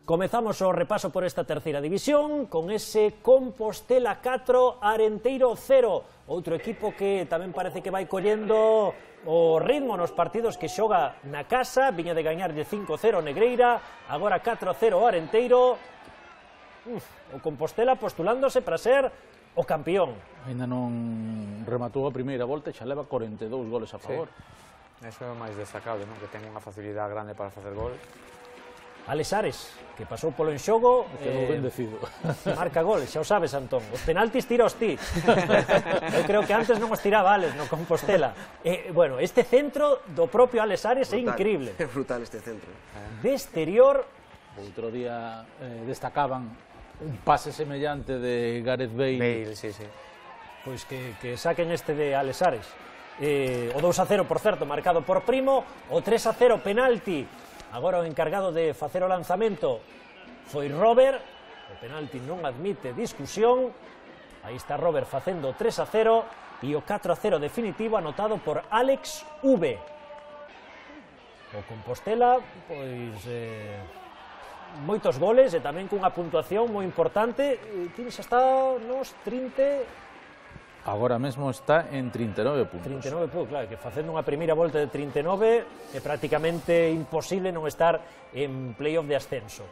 Comezamos o repaso por esta terceira división con ese Compostela 4, Arenteiro 0. Outro equipo que tamén parece que vai collendo o ritmo nos partidos que xoga na casa. Viña de gañarlle 5-0 Negreira, agora 4-0 Arenteiro. O Compostela postulándose para ser o campeón. Ainda non rematou a primeira volta e xa leva 42 goles a favor. Eso é o máis destacable, non? Que ten unha facilidade grande para facer gol. Alesares, que pasou polo enxogo, Quedou bendecido. Marca gol, xa o sabes, Antón. Os penaltis tira os ti. Eu creo que antes non os tiraba Ales no Compostela. Bueno, este centro do propio Alesares é increíble. É brutal este centro. De exterior... Outro día destacaban un pase semellante de Gareth Bale. Sí, sí. Pois que saquen este de Alesares. O 2-0, por certo, marcado por Primo. O 3-0, penalti. Agora o encargado de facer o lanzamento foi Robert. O penalti non admite discusión. Aí está Robert facendo 3-0 e o 4-0 definitivo anotado por Alex V. O Compostela, pois, moitos goles e tamén cunha puntuación moi importante. Tienes hasta nos 30... Agora mesmo está en 39 puntos. 39 puntos, claro, que facendo unha primeira volta de 39 é prácticamente imposible non estar en playoff de ascenso.